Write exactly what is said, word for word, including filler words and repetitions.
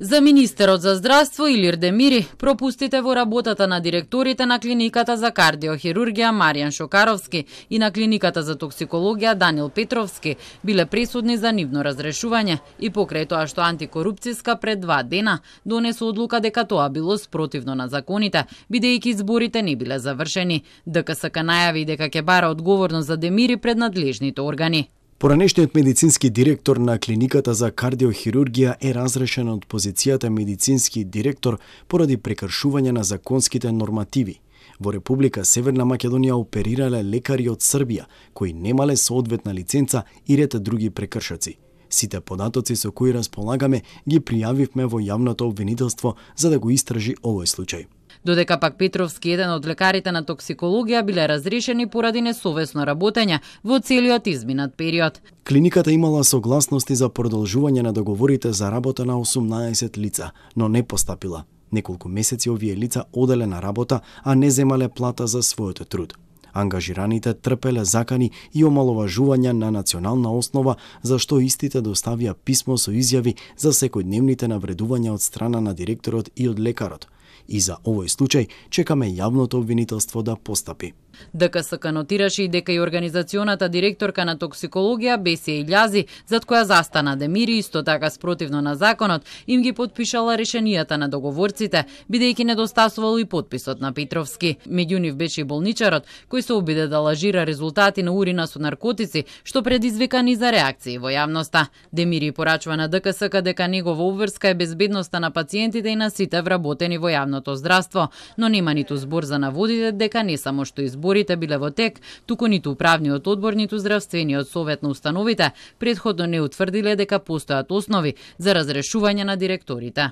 За министерот за здравство Илир Демири, пропустите во работата на директорите на клиниката за кардиохирургија Маријан Шокаровски и на клиниката за токсикологија Данил Петровски биле пресудни за нивно разрешување и покрај тоа што антикорупцијска пред два дена донесу одлука дека тоа било спротивно на законите, бидејќи изборите не биле завршени. ДКСК најави дека ќе бара одговорност за Демири пред надлежните органи. Поранешниот медицински директор на клиниката за кардиохирургија е разрешен од позицијата медицински директор поради прекршување на законските нормативи. Во Република Северна Македонија оперирале лекари од Србија кои немале соодветна лиценца и ред други прекршоци. Сите податоци со кои располагаме ги пријавивме во јавното обвинителство за да го истражи овој случај. Додека пак Петровски, еден од лекарите на токсикологија, биле разрешени поради несовесно работење во целиот изминат период. Клиниката имала согласности за продолжување на договорите за работа на осумнаесет лица, но не постапила. Неколку месеци овие лица оделе на работа, а не земале плата за својот труд. Ангажираните трпеле закани и омаловажувања на национална основа, за што истите доставија писмо со изјави за секојдневните навредувања од страна на директорот и од лекарот. И за овој случај чекаме јавното обвинителство да постапи. ДКСК нотираше и дека и организационата директорка на токсикологија Бесија Илјази, зад која застана Демири, исто така спротивно на законот, им ги потпишала решенијата на договорците, бидејќи недостасувал и подписот на Петровски. Меѓу нив беше и болничарот, кој се обиде да лажира резултати на урина со наркотици, што предизвика низа реакции во јавноста. Демири порачува на ДКСК дека негова обврска е безбедноста на пациентите и на сите вработени во јавното здравство, но нема ниту збор за наводите дека не само што избор Изборите биле во тек, туку ниту управниот одбор, ниту здравствениот совет на установите предходно не утврдиле дека постојат основи за разрешување на директорите.